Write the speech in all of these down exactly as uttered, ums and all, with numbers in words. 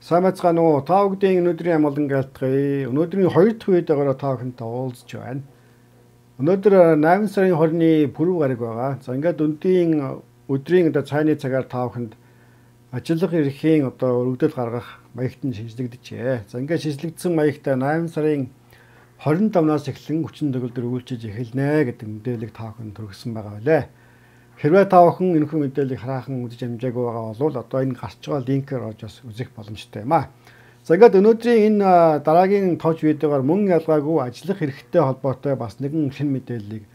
Сайн байцгаана уу? Та бүдгийн өнөөдрийн амгалан айлтгая. Өнөөдрийн хоёр дахь видеогоор та бүхэнтэй уулзж байна. Өнөөдөр найман сарын хорины пүрэв гараг байгаа. За ингээд өндийн өдрийн одоо цайны цагаар та бүхэнд ажиллах эрхийн одоо өргөдөл гаргах маягт нь шинжлэгдэжээ. За ингээд шинжлэгдсэн маягтаа найман сарын хорин тавнаас эхлэн хүчин төгөлдөр үйлчилж эхэлнэ гэдэг мэдээллийг та бүхэнд төргсөн байгаа билээ. Хэрвээ та бүхэн энэхүү мэдээллийг хараахан үзэж амжаагүй байгаа бол одоо энэ гарч байгаа линкээр орж бас үзэх боломжтой юм аа. За ингээд өнөөдрийн энэ дараагийн товч видеогоор мөн ялгаагүй ажиллах хэрэгтэй холбоотой бас нэгэн шинэ мэдээллийг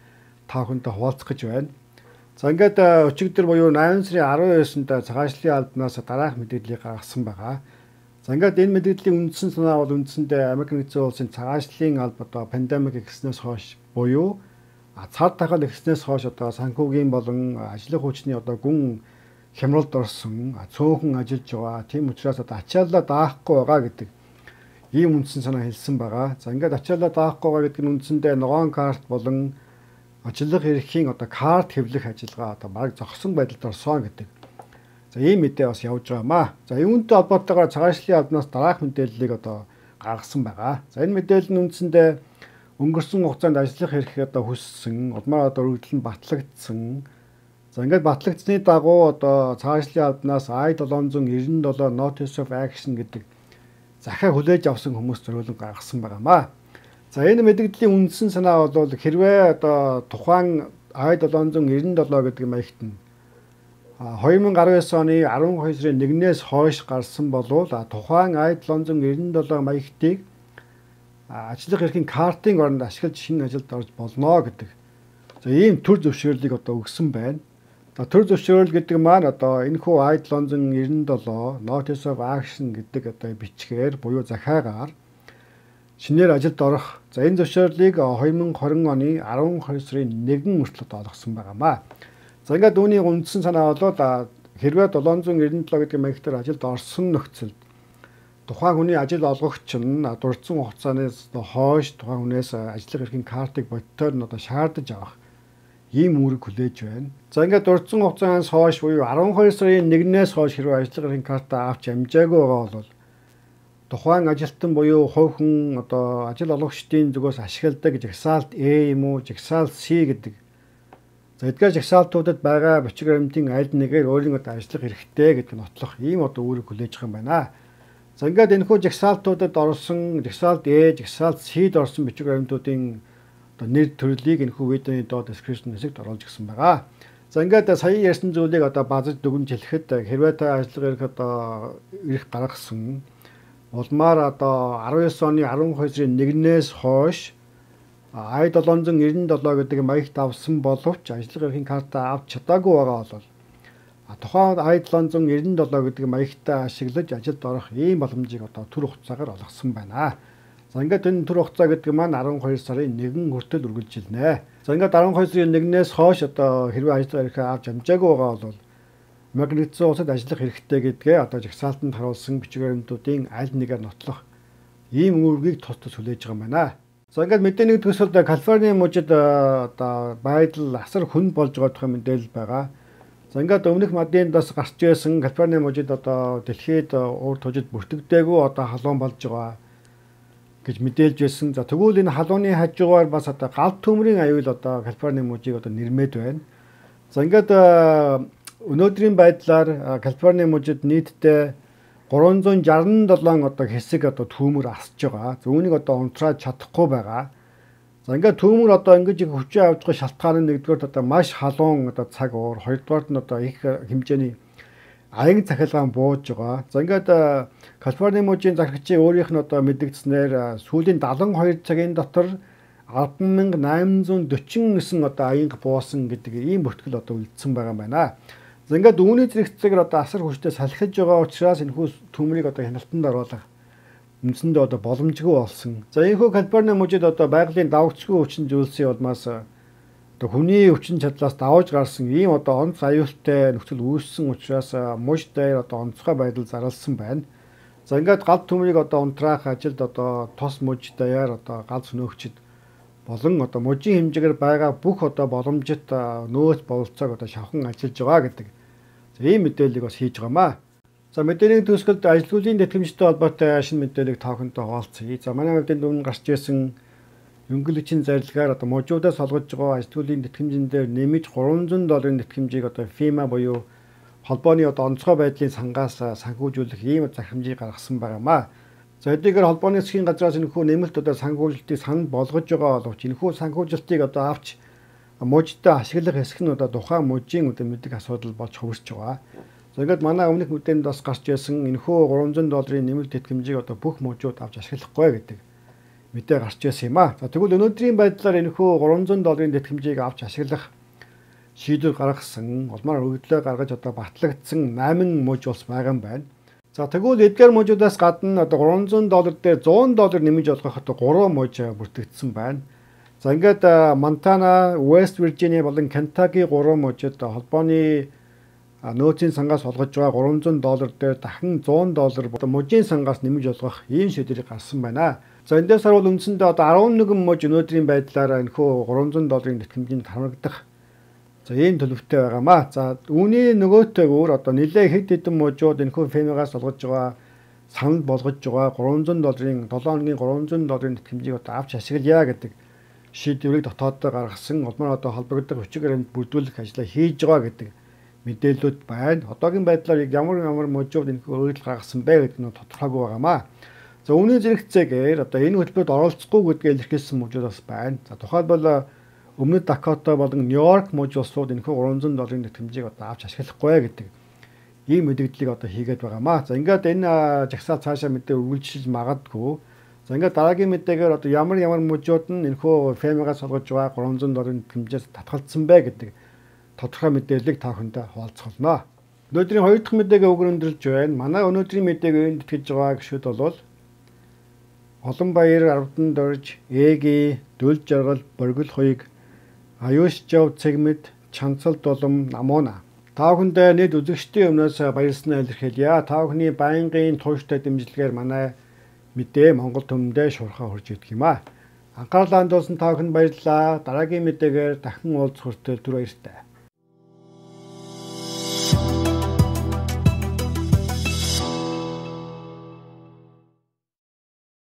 та бүхэнтэй хуваалцах гэж байна. За ингээд өчигдөр буюу найман сарын арван девээсэнд цагаачлалын албанаас дараах мэдээллийг гаргасан байгаа. За ингээд энэ мэдээллийн үндсэн санаа бол үндсэндээ Америк нэгдсэн улсын цагаачлалын алба одоо пандемик эхэлснээс хойш буюу цар тахал эхэлснээс хойш одоо санхүүгийн болон ажлын хүчний одоо гүн хямралд орсон цөөхөн ажиллаж байгаа. Тийм учраас одоо ачааллаа даахгүй байгаа гэдэг ийм үндсэн санаа хэлсэн байгаа. За ингээд ачааллаа даахгүй байгаа гэдэг нь үндсэндээ ногоон карт болон ажиллах эрхийн одоо карт хэвлэх ажиллагаа одоо баг зогсон байдалд орсон гэдэг. За ийм мэдээ бас явж байгаамаа. За үүнтэй холбоотойгоор цагаачлалын албанаас дараах мэдээллийг одоо гаргасан байгаа. За энэ мэдээлэл нь үндсэндээ өнгөрсөн хугацаанд ажиллах эрх одоо хүссэн, улмаар одоо өргөдөл нь батлагдсан. За ингээд батлагдсны дагуу одоо цагаачлалын албанаас I seven nine seven Notice of Action гэдэг захиа хүлээж авсан хүмүүс зориулан гаргасан байгаамаа. За энэ мэдээллийн үндсэн санаа бол хэрвээ одоо тухайн I seven nine seven гэдэг маягт нь two thousand nineteen оны twelve сарын нэгнээс хойш гарсан болвол тухайн I seven nine seven маягтыг ажиллах эрхийн картын оронд ашиглаж шинэ ажилд орж болно гэдэг. За ийм төр зөвшөөрлийг одоо өгсөн байна. За төр зөвшөөрөл гэдэг маань одоо энэхүү I seven nine seven Notice of Action гэдэг одоо бичгээр буюу захиагаар шинээр ажилд орох. За энэ зөвшөөрлийг twenty twenty оны twelve сарын нэгэн хүртэл олгосон байгаамаа. За ингээд үүний үндсэн санаа бол хэрвээ seven nine seven гэдэг маягтаар ажилд орсон нөхцөлд тухайн хүний ажил олгогч нь дурдсан хугацаанаас хойш тухайн хүнээс ажиллах эрхийн картыг бодитоор нь одоо шаардаж авах ийм үүрэг хүлээж байна. За ингээд дурдсан хугацаанаас хойш буюу twelve сарын нэгнээс хойш хэрвээ ажиллах эрхийн картаа авч амжаагүй байгаа бол тухайн ажилтан буюу хувь хүн одоо ажил олгогчдын зүгээс ашигладаг жагсаалт A юм уу, жагсаалт C гэдэг. За эдгээр жагсаалтуудад байгаа бичиг баримтын аль нэгээр өөрийн одоо ажиллах эрхтэй гэдэг нотлох ийм одоо үүрэг хүлээж байгаа юм байна. За ингээд энэхүү жагсаалтуудад орсон жагсаалт A, жагсаалт C-д орсон бичиг баримтуудын одоо нэр төрлийг энэхүү видеоны доод description хэсэгт оруулж өгсөн байгаа. За ингээд сая ярьсан зүйлийг одоо базаж дүгнж хэлэхэд хэрвээ та ажиллах эрх одоо эрх гаргасан улмаар одоо nineteen оны twelve сарын нэгнээс хойш I seven nine seven гэдэг маягт авсан боловч ажиллах эрхийн картаа авч чадаагүй байгаа бол тухайн I seven nine seven гэдэг маягтаа ашиглаж ажилд орох ийм боломжийг одоо түр хугацаагаар олгосон байна. За ингээд энэ түр хугацаа гэдэг маань twelve сарын нэгэн хүртэл үргэлжилнэ. За ингээд twelve сарын нэгнээс хойш одоо хэрвээ ажиллах эрхээ авч амжаагүй байгаа бол Америк нэгдсэн улсад ажиллах хэрэгтэй гэдгээ одоо жагсаалтанд харуулсан бичиг баримтуудын аль нэгээр нотлох ийм үүргийг тус тус хүлээж байгаа юм байна. За ингээд мэдээний төгсөлд Калифорни мужид одоо байдал асар хүн болж байгаа тухай мэдээлэл байгаа. За ингээд өмнөх мадиндаас гарч ирсэн Калифорни мужид одоо дэлхийд урд хожид бүртгэдэггүй одоо халуун болж байгаа гэж мэдээлж байсан. За тэгвэл энэ халууны хажуугаар бас одоо галт төмрийн аюул одоо Калифорни мужийг одоо нэрмээд байна. За ингээд өнөөдрийн байдлаар Калифорни мужид нийтдээ three sixty seven одоо хэсэг одоо түүмэр асж байгаа. За үүнийг одоо унтраад чадахгүй байгаа. За ингээд түүмэр одоо ингэж их хүчээ авч байгаа шалтгаан нь нэгдүгээр одоо маш халуун одоо цаг уур, хоёрдугаар нь одоо их хэмжээний аян цахилгаан бууж байгаа. За ингээд Калифорни мужийн захирагчийн өөрийнх нь одоо мэдгдснээр сүүлийн seventy-two цагийн дотор ten thousand eight hundred forty-nine одоо аянга буусан гэдэг ийм бүртгэл одоо үлдсэн байгаа юм байна. За ингээд үүний зэрэгцээгээр одоо асар хүчтэй салхиж байгаа учраас энэхүү төмрийг одоо хяналтанд оруулах үндсэндээ одоо боломжгүй болсон. За энэхүү Калифорни мужид одоо байгалийн давагцгүй хүчин зүйлсийн улмаас одоо хүний хүчин чадлаас давж гарсан ийм одоо онц аюултай нөхцөл үүссэн учраас муж дээр одоо онцгой байдал зарласан байна. За ингээд галт төмрийг одоо унтраах ажилд одоо тос муж даяар одоо галт сөнөөгчд болон одоо мужийн хэмжээгээр байгаа бүх одоо боломжит нөөц бололцоог одоо шавхан ажиллаж байгаа гэдэг ийм мэдээллийг бас хийж байгаамаа. За мэдээний төгсгөлд ажилгүйдлийн тэтгэмжтэй холбоотой шинэ мэдээллийг та бүхэнтэй хуваалцъя. За манай хувьд энэ гарч ирсэн өнгөлөгчийн зарилгаар одоо можуудаас олгож байгаа ажилгүйдлийн тэтгэмжин дээр нэмж гурван зуун долларын тэтгэмжийг одоо FEMA буюу холбооны одоо онцгой байдлын сангаас санхүүжүүлэх ийм захирамжийг гаргасан байгаамаа. За эдгээр холбооны засгийн газраас энэхүү нэмэлт одоо санхүүжилтийг санал болгож байгаа боловч энэхүү санхүүжилтийг одоо авч можтой ашиглах хэсэг нь одоо тухайн можийн одоо мэддэг асуудал болж хувирч байгаа. За ингээд манай өмнөх мэдээнд бас гарч ирсэн энэхүү гурван зуун долларын нэмэлт тэтгэмжийг одоо бүх можууд авч ашиглахгүй гэдэг мэдээ гарч ирсэн юм а. За тэгвэл өнөөдрийн байдлаар энэхүү гурван зуун долларын тэтгэмжийг авч ашиглах шийдвэр гаргасан, улмаар өгдлөө гаргаж одоо батлагдсан найман мож улс байгаа юм байна. За тэгвэл эдгээр можуудаас гадна одоо гурван зуун доллар дээр зуун доллар нэмж олгох одоо гурван мож бүртгэгдсэн байна. За ингээд Монтана, West Virginia болон Kentucky гурван можид холбооны нөөцийн сангаас олгож байгаа гурван зуун доллар дээр дахин зуун доллар можийн сангаас нэмж олгох ийм шийдвэрийг гаргасан байна. За эндээс харвал үндсэндээ одоо арван нэгэн мож өнөөдрийн байдлаар энэхүү гурван зуун долларын тэтгэмжинд хамрагдах за ийм төлөвтэй байгаамаа. За үүний нөгөөтэйгөр одоо нэлээ хэд хэдэн можууд энэхүү FEMA-гаас олгож байгаа санал болгож байгаа гурван зуун долларын долоон хоногийн гурван зуун долларын тэтгэмжийг одоо авч ашиглая гэдэг шийдвэрийг дотооддоо гаргасан. Улмаар одоо холбогдох хүчиг баримт бүрдүүлэх ажлаа хийж байгаа гэдэг мэдээлэлүүд байна. Одоогийн байдлаар яг ямар ямар можууд энэхүү өөрчлөлт гаргасан бэ гэдэг нь тодорхойгүй байгаамаа. За үүний зэрэгцээгээр одоо энэ хөтөлбөрт оролцохгүй гэдгээ илэрхийлсэн можууд бас байна. За тухайлбал Өмнөд Дакота болон Нью-Йорк муж улсууд энэхүү гурван зуун долларын тэтгэмжийг одоо авч ашиглахгүй гэдэг ийм мэдээллийг одоо хийгээд байгаамаа. За ингээд энэ жагсаал цаашаа мэдээ үргэлжлэж магадгүй. За ингээд дараагийн мэдээгээр одоо ямар ямар мужууд нь энэхүү FEMA-гаас олгож байгаа гурван зуун долларын тэтгэмжээс татгалцсан бэ гэдэг тодорхой мэдээллийг та бүхэндээ хуваалцуулна. Өнөөдрийн хоёр дахь мэдээгээ өгөрөндөрлж байна. Манай өнөөдрийн мэдээг итгэж байгаа гишүүд бол Уланбаяр, Арвдан дорж, Эги, Дөл жаргал, Боргил хуйг, Аюуш жав цэгмэд, Чанцал дулам, Намуна. Та бүхэндээ нийт үзэгчдийн өмнөөс баярлалаа илэрхийлье. Та бүхний байнгын тууштай дэмжлэгээр манай мэдээ Монгол түмэндээ шуурхаа хүрч идэх юм а. Анхаарлаа хандуулсан та бүхэнд баярлалаа. Дараагийн мэдээгээр дахин уулзах хүртэл түр баяртай.